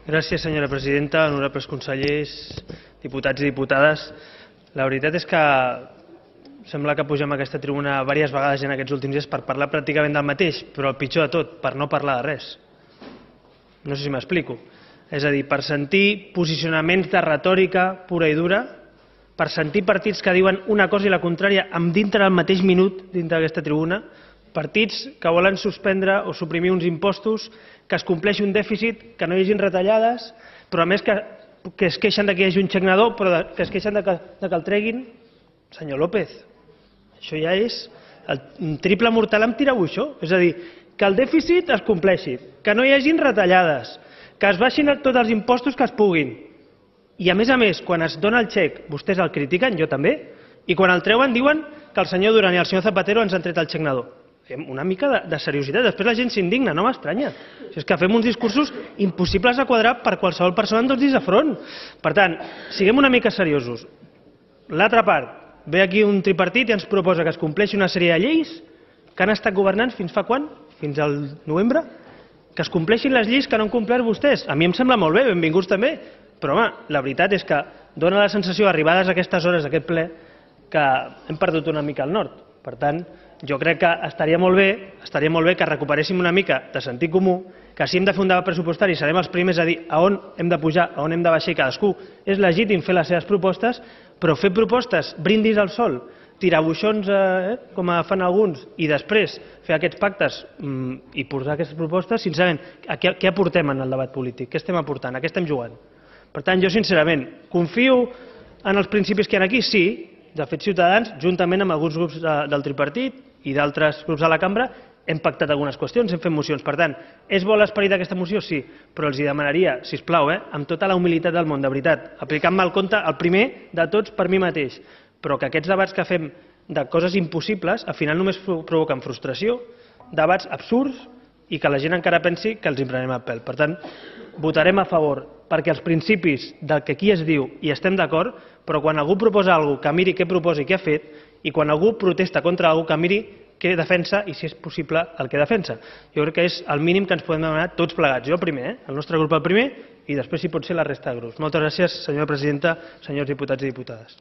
Gràcies, senyora presidenta, honorables consellers, diputats i diputades. La veritat és que sembla que pugem a aquesta tribuna diverses vegades en aquests últims dies per parlar pràcticament del mateix, però el pitjor de tot, per no parlar de res. No sé si m'explico. És a dir, per sentir posicionaments de retòrica pura i dura, per sentir partits que diuen una cosa i la contrària dintre del mateix minut dintre d'aquesta tribuna, partits que volen suspendre o suprimir uns impostos, que es compleixi un dèficit, que no hi hagin retallades, però a més que es queixen que hi hagi un xecnador, però que es queixen que el treguin. Senyor López, això ja és el triple mortal amb tirabuixó. És a dir, que el dèficit es compleixi, que no hi hagin retallades, que es baixin tots els impostos que es puguin. I a més, quan es dona el xec, vostès el critiquen, jo també, i quan el treuen diuen que el senyor Duran i el senyor Zapatero ens han tret el xecnador. Una mica de seriositat, després la gent s'indigna, no m'estranya. És que fem uns discursos impossibles de quadrar per qualsevol persona amb 2 dits de front. Per tant, siguem una mica seriosos. L'altra part, ve aquí un tripartit i ens proposa que es compleixi una sèrie de lleis que han estat governant fins fa quan? Fins al novembre? Que es compleixin les lleis que no han complert vostès. A mi em sembla molt bé, benvinguts també, però home, la veritat és que dóna la sensació, arribades a aquestes hores d'aquest ple, que hem perdut una mica el nord. Per tant, jo crec que estaria molt bé que recuperéssim una mica de sentit comú, que si hem de fer un debat pressupostari serem els primers a dir a on hem de pujar, a on hem de baixar, i cadascú és legítim fer les seves propostes, però fer propostes, brindis al sol, tirabuixons com fan alguns, i després fer aquests pactes i posar aquestes propostes, sincerament, què aportem en el debat polític? Què estem aportant? A què estem jugant? Per tant, jo sincerament confio en els principis que hi ha aquí, sí. De fet, Ciutadans, juntament amb alguns grups del tripartit i d'altres grups de la cambra, hem pactat algunes qüestions, hem fet mocions. Per tant, és bo l'esperit d'aquesta moció? Sí, però els demanaria, sisplau, amb tota la humilitat del món, de veritat, aplicant-me el compte, el primer de tots per mi mateix, però que aquests debats que fem de coses impossibles, al final només provoquen frustració, debats absurds i que la gent encara pensi que els en prenem el pèl. Per tant, votarem a favor perquè els principis del que aquí es diu hi estem d'acord, però quan algú proposa alguna cosa, que miri què proposa i què ha fet, i quan algú protesta contra alguna cosa, que miri què defensa i, si és possible, el que defensa. Jo crec que és el mínim que ens podem demanar tots plegats. Jo el primer, el nostre grup el primer, i després, si pot ser, la resta de grups. Moltes gràcies, senyora presidenta, senyors diputats i diputades.